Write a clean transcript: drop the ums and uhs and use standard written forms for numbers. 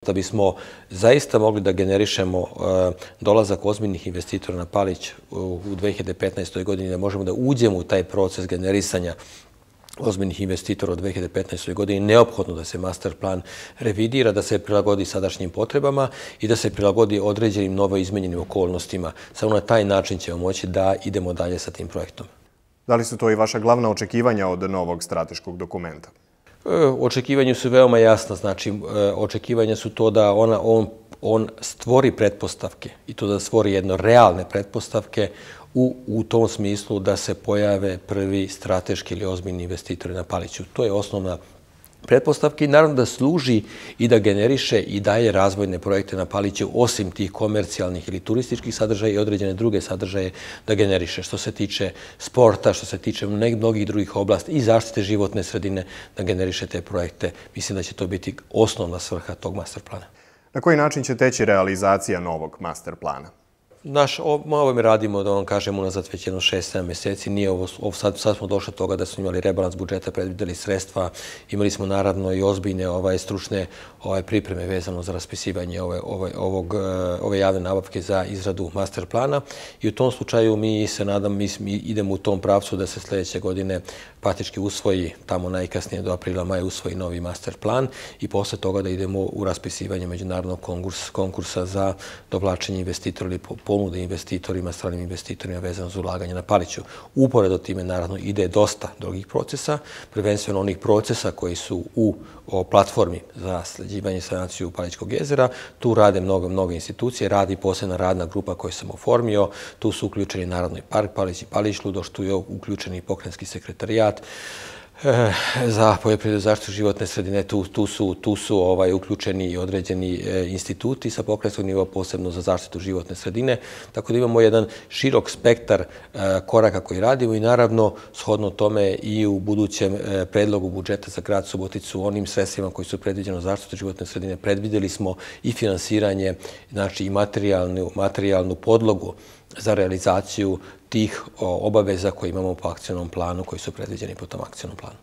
Da bismo zaista mogli da generišemo dolazak ozbiljnih investitora na Palić u 2015. godini, da možemo da uđemo u taj proces generisanja ozbiljnih investitora u 2015. godini, neophodno da se master plan revidira, da se prilagodi sadašnjim potrebama i da se prilagodi određenim novo izmenjenim okolnostima. Samo na taj način ćemo moći da idemo dalje sa tim projektom. Da li su to i vaša glavna očekivanja od novog strateškog dokumenta? Očekivanja su veoma jasna, znači očekivanja su to da on stvori pretpostavke i to da stvori jedno realne pretpostavke u tom smislu da se pojave prvi strateški ili ozbiljni investitori na Paliću. To je osnovna pretpostavka i naravno da služi i da generiše i daje razvojne projekte na Paliću osim tih komercijalnih ili turističkih sadržaja i određene druge sadržaje da generiše. Što se tiče sporta, što se tiče mnogih drugih oblasti i zaštite životne sredine da generiše te projekte. Mislim da će to biti osnovna svrha tog master plana. Na koji način će teći realizacija novog master plana? Ovome radimo, da vam kažem, unazad već jedno 6-7 mjeseci. Nije ovo, sad smo došli do toga da smo imali rebalans budžeta, predvideli sredstva, imali smo naravno i ozbiljne stručne pripreme vezano za raspisivanje ove javne nabavke za izradu master plana i u tom slučaju mi se nadam, mi idemo u tom pravcu da se sljedeće godine praktički usvoji, tamo najkasnije do aprila, maja usvoji novi master plan i posle toga da idemo u raspisivanje međunarodnog konkursa za dovlačenje investitora ili ponude investitorima, stranim investitorima vezano za ulaganje na Paliću. Uporedo time naravno ide dosta drugih procesa, prvenstveno onih procesa koji su u platformi za sređivanje i sanaciju Palićkog jezera. Tu rade mnogo institucije, radi posebna radna grupa koju sam oformio. Tu su uključeni naravno i Park Palić i Palić Ludoš, tu je uključeni i pokrajinski sekretarijat za poljoprivredu i zaštitu životne sredine, tu su uključeni i određeni instituti sa pokrajinskog nivoa, posebno za zaštitu životne sredine. Tako da imamo jedan širok spektar koraka koji radimo i naravno shodno tome i u budućem predlogu budžeta za grad Suboticu, onim sredstvima koji su predviđeni za zaštitu životne sredine, predvideli smo i finansiranje, znači i materijalnu podlogu za realizaciju tih obaveza koje imamo po akcionom planu, koji su predviđeni po tom akcionom planu.